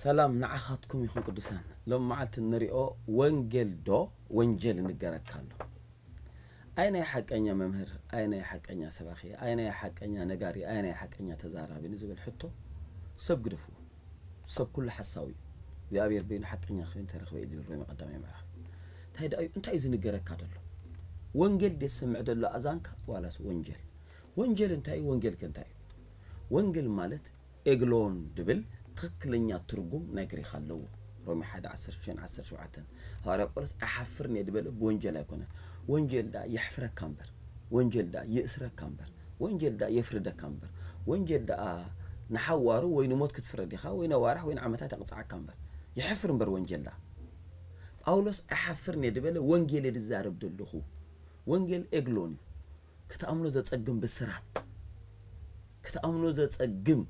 ሰላም ንዓኻትኩም ይኹን ቅዱሳን። ሎም መዓልቲ ንሪኦ ወንጌል ዶ ወንጀል ንገረካ ኣሎ። ኣይ ናይ ሓቀኛ መምህር፣ ኣይ ናይ ሓቀኛ ሰባኺ፣ ኣይ ናይ ሓቀኛ ነጋሪ፣ ኣይ ናይ ሓቀኛ ተዛራቢ ንዝብል ሕቶ ሰብ ግደፍዎ። ሰብ ኩሉ ሓሳዊ እዩ። እግዚኣብሔር በይኑ ሓቀኛ ኮይኑ ተረኽበ ኢሉ ሮሜ ቀዳማይ ምዕራፍ። እንታይ ደኣ እዩ? እንታይ እዩ ዝንገረካ ዘሎ? ወንጌል ድየ ዝሰምዕ ዘሎ ኣዛንካ ዋላስ ወንጀል? ወንጀል እንታይ እዩ? ወንጌል ከ እንታይ እዩ? ወንጌል ማለት ኤግሎን ድብል ትኽክለኛ ትርጉም ናይ ግሪኽ ኣለዎ። ሮሜ ሓደ ዓሰርተ ሽዱሽተ ዓሰርተ ሸውዓተ። ሃዋርያ ጳውሎስ ኣይሓፍርን እየ ድበለ ብወንጀል ኣይኮነን። ወንጀል ደኣ የሕፍረካ እምበር፣ ወንጀል ደኣ ይእስረካ እምበር፣ ወንጀል ደኣ የፍርደካ እምበር፣ ወንጀል ደኣ ንሓዋሩ ወይ ንሞት ክትፍረድ ኢኻ ወይ ነዋርሕ ወይ ንዓመታት የቕጽዓካ እምበር፣ የሕፍር እምበር ወንጀል ደኣ። ጳውሎስ ኣይሓፍርን እየ ድበለ ወንጌል እየ ዝዛረብ ዘለኹ። ወንጌል ኤግሎን እዩ። ክትኣምኖ ዘጸግም ብስራት፣ ክትኣምኖ ዘጸግም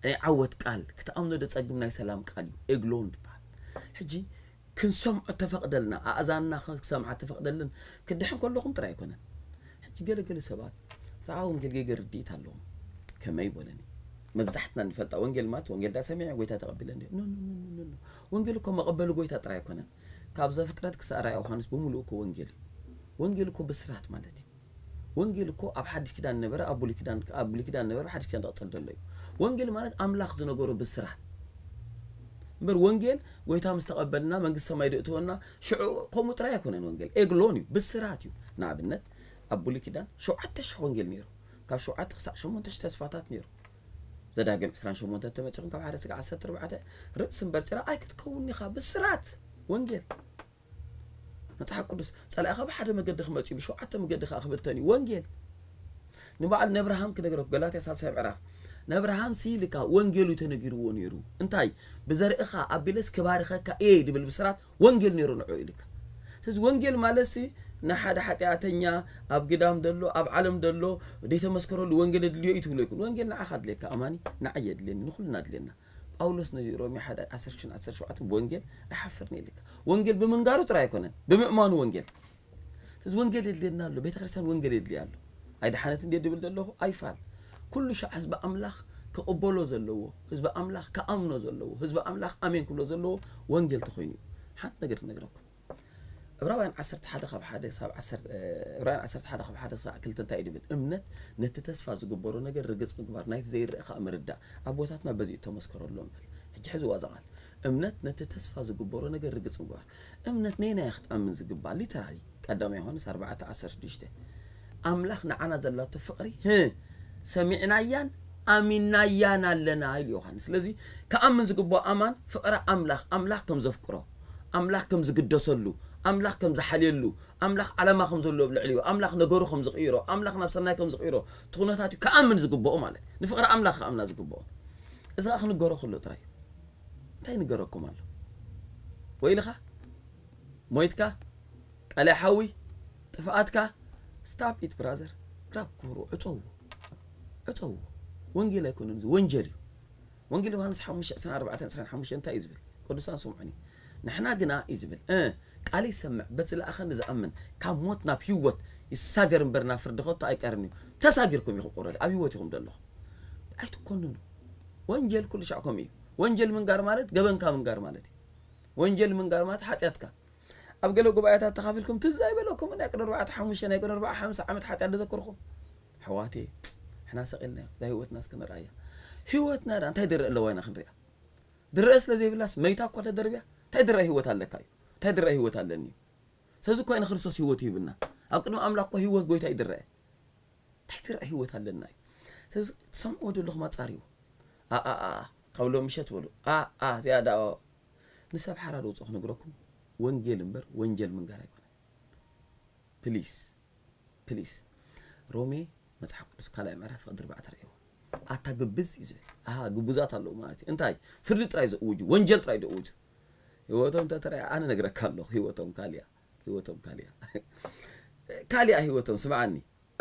ናይ ዓወት ቃል፣ ክትኣምኖ ዘጸግም ናይ ሰላም ቃል እዩ። ኤግሎን ትበሃል። ሕጂ ክንሰምዖ ተፈቕደልና፣ ኣእዛንና ክሰምዓ ተፈቕደልን ክድሕን ከለኹም ጥራይ ኣይኮነን። ሕጂ ገለገለ ሰባት ብዛዕባ ወንጌል ጌገ ርድኢት ኣለዎም። ከመይ በለኒ? መብዛሕትና ንፈልጣ ወንጌል ማለት ወንጌል ዳ ሰሚዐ ጎይታ ተቐቢለ እንደ። ኖ፣ ኖ፣ ኖ፣ ኖ፣ ኖ፣ ኖ። ወንጌል እኮ መቐበሊ ጎይታ ጥራይ ኣይኮነን። ካብ ዘፍጥረት ክሳብ ራእይ ዮሃንስ ብምሉኡ እኮ ወንጌል እዩ። ወንጌል እኮ ብስራት ማለት እዩ። ወንጌል እኮ ኣብ ሓድሽ ኪዳን ነበረ፣ ኣብ ብሉይ ኪዳን፣ ኣብ ብሉይ ኪዳን ነበረ፣ ሓድሽ ኪዳን ዝቐጽል ዘሎ እዩ። ወንጌል ማለት ኣምላኽ ዝነገሮ ብስራት። እምበር ወንጌል ጎይታ ምስ ተቐበልና መንግስቲ ሰማይ ደእትወና ሽዑ ከምኡ ጥራይ ኣይኮነን። ወንጌል ኤግሎን እዩ፣ ብስራት እዩ። ንኣብነት ኣብ ብሉይ ኪዳን ሸውዓተ ሽሕ ወንጌል ነይሩ። ካብ ሸውዓተ ክሳዕ ሸሞንተ ሽሕ ተስፋታት ነይሩ። ዘዳግም ዕስራን ሸሞንተን ተመጺኹም ካብ ሓደ ስጋ ዓሰርተ ኣርባዕተ ርእሲ እምበር ጭራ ኣይክትከውን ኢኻ። ብስራት ወንጌል። መጽሓፍ ቅዱስ ጸላኢኻ ብሓደ መገዲ ክመጽእ እዩ፣ ብሸውዓተ መገዲ ከኣ ክብተን እዩ። ወንጌል ንበዓል ነብርሃም ክነግረኩ፣ ገላትያ ሳልሳይ ምዕራፍ፣ ነብርሃም ሲ ልካ ወንጌሉ ተነጊርዎ ነይሩ። እንታይ? ብዘርእኻ ኣቢለስ ክባርኸካ እየ ድብል ብስራት ወንጌል ነይሩ ንዑ ኢልካ። ስለዚ ወንጌል ማለት ሲ ንሓደ ሓጢኣተኛ ኣብ ግዳም ደሎ፣ ኣብ ዓለም ደሎ፣ ዘይተመስከረሉ ወንጌል ድልዮ እዩ ትብሎ ይኩን። ወንጌል ንዓኻ ድልየካ ኣማኒ፣ ንዓየ ድልየኒ፣ ንኹልና ድልየና። ጳውሎስ ነዚ ሮሜ ሓደ ዓሰርተ ሽዱሽተ ዓሰርተ ሸውዓተ ብወንጌል ኣይሓፍርን እየ ኢልካ። ወንጌል ብምንጋሩ ጥራይ ኣይኮነን፣ ብምእማኑ ወንጌል። ስለዚ ወንጌል የድልየና ኣሎ፣ ቤተ ክርስቲያን ወንጌል የድልያ ኣሎ። ኣይደሓነት እንዴ ድብል ዘለኹ ኣይፋል። ኩሉ ሻዕ ህዝቢ ኣምላኽ ክቕበሎ ዘለዎ፣ ህዝቢ ኣምላኽ ክኣምኖ ዘለዎ፣ ህዝቢ ኣምላኽ ኣሜን ክብሎ ዘለዎ ወንጌል ተኾይኑ እዩ። ሓንቲ ነገር ትነግረኩም። ዕብራውያን ዓሰርተ ሓደ ካብ ሓደ ክሳብ ዓሰርተ፣ እ፣ ዕብራውያን ዓሰርተ ሓደ ካብ ሓደ ክሳብ ክልተ እንታይ እዩ ድብል? እምነት ነቲ ተስፋ ዝግበሮ ነገር ርግጽ ምግባር፣ ናይቲ ዘይረአ ከኣ ምርዳእ። ኣቦታትና በዚ እዩ ተመስከረሎም በል። ሕጂ ሕዝዋ እዛ ቃል። እምነት ነቲ ተስፋ ዝግበሮ ነገር ርግጽ ምግባር። እምነት ነየናይ ክትኣምን ዝግባእ? ሊተራሊ ቀዳማይ ዮሃንስ ኣርባዕተ ዓሰርተ ሽዱሽተ። ኣምላኽ ንዓና ዘላቶ ፍቕሪ፣ ህ፣ ሰሚዕናያን ኣሚናያን ኣለና ኢሉ ዮሃንስ። ስለዚ ክኣምን ዝግባኦ ኣማን ፍቕሪ ኣምላኽ፣ ኣምላኽ ከም ዘፍቅሮ፣ ኣምላኽ ከም ዝግደሰሉ፣ ኣምላኽ ከም ዝሓልየሉ፣ ኣምላኽ ዓላማ ከም ዘለዎ ኣብ ልዕሊኡ፣ ኣምላኽ ነገሩ ከም ዝቕይሮ፣ ኣምላኽ ናብ ሰናይ ከም ዝቕይሮ፣ እቲ ኩነታት እዩ ክኣምን ዝግባኦ ማለት። ንፍቕሪ ኣምላኽ ክኣምና ዝግባኦ። እዚ ኸኣ ክንገሮ ከሎ ጥራይ እዩ። እንታይ ንገረኩም ኣሎ? ወይልኻ፣ ሞይትካ፣ ቀላይ ሓዊ፣ ጥፍኣትካ፣ stop it brother። ግራብ ክብሩ ዕጸዎ። ዕጸዎ። ወንጌል ኣይኮነን እዚ፣ ወንጀል እዩ። ወንጌል ዮሃንስ ሓሙሽተ ዕስራን ኣርባዕተን ዕስራን ሓሙሽተን እንታይ እዩ ዝብል? ቅዱሳን ስምዑኒ። ንሕና ግና እዩ ዝብል፣ እ፣ ቃል ይሰምዕ፣ በቲ ዝለኣኸኒ ዝኣምን ካብ ሞት ናብ ህይወት ይሳገር እምበር ናብ ፍርዲ ከቶ ኣይቀርን እዩ። ተሳጊርኩም ኢኹም ኦረዲ፣ ኣብ ህይወት ኢኹም ዘለኹም። ኣይትኮንኑ። ወንጀል ኩሉ ሻዕ ከምኡ እዩ። ወንጀል ምንጋር ማለት ገበንካ ምንጋር ማለት እዩ። ወንጀል ምንጋር ማለት ሓጢኣትካ። ኣብ ገለ ጉባኤታት ተኻፊልኩም ትዝ ኣይበለኩም ናይ ቅድሚ ኣርባዕተ ሓሙሽተ ናይ ቅድሚ ኣርባዓ ሓምሳ ዓመት ሓጢኣት ዘዘክርኩም። ኣሕዋተየ፣ ንሕና ሰቒልናዮ፣ እዛ ህይወትና እስከ ንርኣያ። ህይወትና ዳ እንታይ ድረእ ኣለዋ ኢና ክንሪኣ? ድረእ ስለ ዘይብላስ መይታ እኳ ተደርብያ፣ እንታይ ድረእ ህይወት ኣለካ እዩ? እንታይ ድረእ ህይወት ኣለኒ እዩ? ስለዚ እኳ ኢና ክርስቶስ ህይወት ሂብና። ኣብ ቅድሚ ኣምላኽ እኳ ህይወት ጎይታ ይድረአ። እንታይ ትረአ ህይወት ኣለና እዩ? ስለዚ ትሰምዕዎ ዘለኹም ኣጻርይዎ። ኣ፣ ኣ፣ ኣ፣ ኣ፣ ካብ ሎም ምሸት በሉ። ኣ፣ ኣ፣ እዚኣ ደኣ ንሰብ ሓራ ዶ ውጽእ ክነግረኩም? ወንጌል እምበር ወንጀል ምንጋር ኣይኮነን። ፕሊስ፣ ፕሊስ። ሮሜ መጽሓፍ ቅዱስ ካልኣይ ምዕራፍ ፍቕዲ ኣርባዕተ ርእይዎ። ኣታ ግብዝ እዩ ዝብል። ኣሃ፣ ግቡዛት ኣለዉ ማለት እዩ። እንታይ? ፍርዲ ጥራይ ዘእውጁ፣ ወንጀል ጥራይ ዘእውጁ። ህይወቶም እንተተረኣ ኣነ ነግረካ ኣለኹ፣ ህይወቶም ካልያ፣ ህይወቶም ካልያ። ካልያ ህይወቶም፣ ስምዓኒ።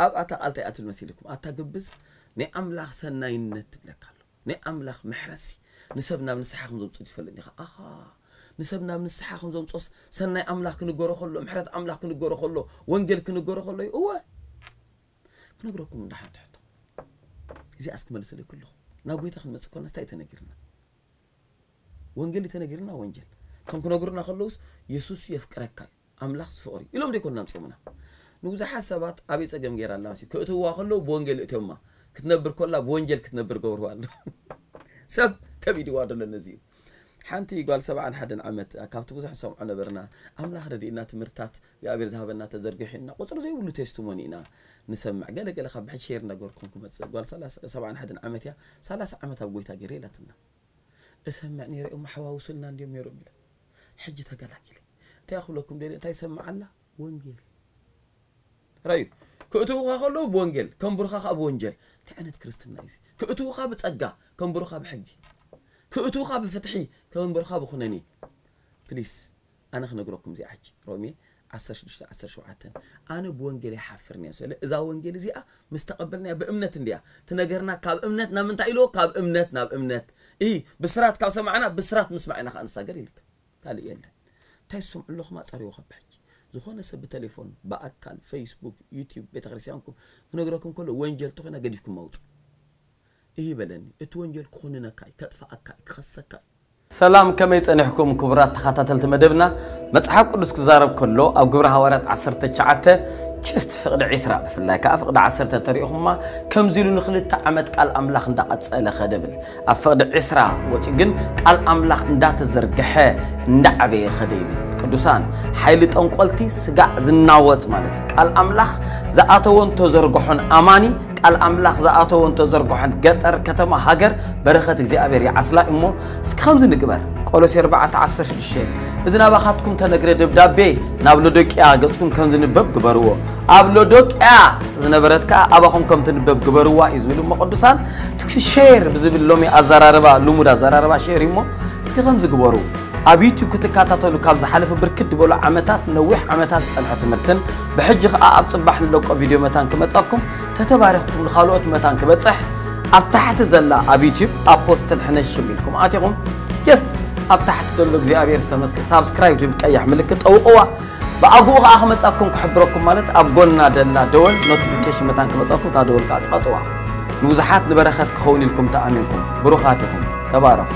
ኣብ ኣታ ቃል እንታይ ኣትብል መሲልኩም? ኣታ ግብዝ፣ ናይ ኣምላኽ ሰናይነት ትብለካ ኣሎ። ናይ ኣምላኽ ምሕረትሲ ንሰብ ናብ ንስሓ ከም ዘምጽኦ ትፈልጥ ዲኻ? ኣኻ፣ ንሰብ ናብ ንስሓ ከም ዘምጽኦስ ሰናይ ኣምላኽ ክንገሮ ከሎ፣ ምሕረት ኣምላኽ ክንገሮ ከሎ፣ ወንጌል ክንገሮ ከሎ እዩ። እወ፣ ክነግረኩም እንዳ ሓንቲ ሕቶ። እዚኣስ ክመልሰለይ ከለኹ፣ ናብ ጎይታ ክንመጽእ ከለና እንታይ ተነጊርና? ወንጌል እዩ ተነጊርና፣ ወንጌል። እቶም ክነግሩና ከለውስ፣ የሱስ የፍቅረካ እዩ፣ ኣምላኽ ፍቕሪ እዩ ኢሎም ዘይኮኑና ኣምጺኦምና። ንብዙሓት ሰባት ኣበይ ጸገም ገይራ ኣላ መሲ፣ ክእትውዋ ከለዉ ብወንጌል እትዮማ፣ ክትነብር ከላ ብወንጌል ክትነብር ገብርዋ ኣሎ። ሰብ ከቢድዋ ደሎ ነዚ እዩ። ሓንቲ ጓል ሰብዓን ሓደን ዓመት፣ ካብቲ ብዙሕ ንሰምዖ ነበርና፣ ኣምላኽ ረድእና፣ ትምህርታት እግዚኣብሔር ዝሃበና ተዘርጊሑ ኢና፣ ቁጽሪ ዘይብሉ ቴስቲሞኒ ኢና ንሰምዕ። ገለ ገለ ካብ ብሕጂ ሼር እናገበርኩም ክመጽእ፣ ጓል ሰላሳ፣ ሰብዓን ሓደን ዓመት እያ፣ ሰላሳ ዓመት ኣብ ጎይታ ገይረ ኢላትና። እሰምዕ ነይረ እዮም፣ ሓዋውሱልና እንድዮም ነይሮም ኢለ። ሕጂ ተገላጊለ። እንታይ ክብለኩም ደልየ፣ እንታይ ይሰምዕ ኣላ? ወንጌል። ራዩ፣ ክእትውኻ ከለዉ ብወንጌል፣ ከንብሩኻ ከኣ ብወንጀል። እንታይ ዓይነት ክርስትና እዩ እዚ? ክእትውኻ ብጸጋ፣ ከንብሩኻ ብሕጊ። ክእትውኻ ብፍትሒ፣ ከንብሩኻ ብኹነኔ። ፕሊስ፣ ኣነ ክነግረኩም እዚኣ ሕጂ። ሮሜ ዓሰርተ ሽዱሽተ ዓሰርተ ሸውዓተ። ኣነ ብወንጌል ይሓፍርን እየ፣ ስለ እዛ ወንጌል እዚኣ ምስ ተቐበልናያ ብእምነት እንድያ። ትነገርና ካብ እምነት ናብ ምንታይ ኢልዎ? ካብ እምነት ናብ እምነት። እይ፣ ብስራት ካብ ሰማዕና፣ ብስራት ምስማዕ ኢና ከኣ ንሳገር ኢልካ። ካልእ የለን። እንታይ ትሰምዑ ኣለኹም? ኣጻርይዎ ካብ ሕጂ። ዝኾነ ሰብ ብቴሌፎን፣ ብኣካል፣ ፌስቡክ፣ ዩቲዩብ፣ ቤተክርስትያንኩም ክነግረኩም ከሎ ወንጀል ተኾይና ገዲፍኩም ኣውጹ። እሂ በለኒ። እቲ ወንጀል ክኹንነካ እዩ፣ ከጥፍኣካ እዩ፣ ክኸሰካ እዩ። ሰላም፣ ከመይ ጸኒሕኩም ክቡራት ተኸታተልቲ መደብና? መጽሓፍ ቅዱስ ክዛረብ ከሎ ኣብ ግብሪ ሃዋርያት ዓሰርተ ትሽዓተ ችስት ፍቕዲ ዒስራ፣ ብፍላይ ከኣ ፍቕዲ ዓሰርተ ተሪእኹማ፣ ከምዚ ኢሉ ንኽልተ ዓመት ቃል ኣምላኽ እንዳቐጸለ ኸደ ብል። ኣብ ፍቕዲ ዒስራ ወጺኡ ግን ቃል ኣምላኽ እንዳተዘርግሐ እንዳዓበየ ኸደ ይብል። ቅዱሳን፣ ሓይሊ ጠንቆልቲ ስጋዕ ዝናወጽ ማለት እዩ። ቃል ኣምላኽ ዝኣተወን ተዘርግሖን ኣማኒ፣ ቃል ኣምላኽ ዝኣተወን ተዘርግሖን ገጠር፣ ከተማ፣ ሃገር፣ በረኸት እግዚኣብሔር ይዓስላ እሞ፣ እስኪ ከምዚ ንግበር። ቆሎሴ ኣርባዕተ ዓሰርተ ሽዱሽተ፣ እዚ ናባኻትኩም ተነግረ ደብዳቤ ናብ ሎዶቅያ ገጽኩም ከም ዝንበብ ግበርዎ። ኣብ ሎዶቅያ ዝነበረት ከኣ ኣባኹም ከም ትንበብ ግበርዋ እዩ ዝብል እሞ ቅዱሳን፣ ትክሲ ሼር ብዝብል ሎሚ ኣዘራርባ፣ ልሙድ ኣዘራርባ ሼር እዩ እሞ፣ እስኪ ከምዚ ግበሩ። ኣብ ዩቲዩብ ክትከታተሉ ካብ ዝሓለፈ ብርክት ዝበሉ ዓመታት፣ ነዊሕ ዓመታት ዝጸንሐ ትምህርትን ብሕጂ ከኣ ኣብ ጽባሕ ንለቆ ቪድዮ መታን ክመጻኩም፣ ተተባሪኽኩም ንኻልኦት መታን ክበጽሕ ኣብ ታሕቲ ዘላ ኣብ ዩቲዩብ ኣፖስትል ሕነሽም ኢልኩም ኣቲኹም፣ ጀስት ኣብ ታሕቲ ዘሎ እግዚኣብሔር ዝተመስገ ሳብስክራይብ ትብል ቀያሕ ምልክት ጠውቕዋ። ብኣግኡ ከኣ ክመጻኩም ክሕብረኩም ማለት ኣብ ጎና ደላ ደወል ኖቲፊኬሽን መታን ክመጻኩም እታ ደወል ከኣ ጸቕጥዋ። ንብዙሓት ንበረኸት ክኸውን ኢልኩም ተኣሚንኩም ብሩኻት ኢኹም። ተባረኹ።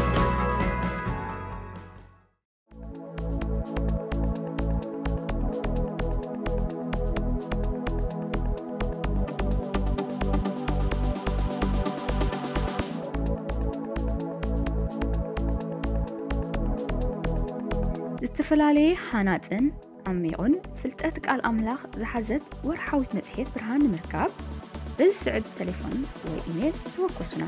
ዝተፈላለየ ሃናጽን ዓሚቑን ፍልጠት ቃል ኣምላኽ ዝሓዘት ወርሓዊት መጽሔት ብርሃን ንምርካብ፣ በዚ ስዕብ ተሌፎን ወይ ኢሜል ተወከሱና።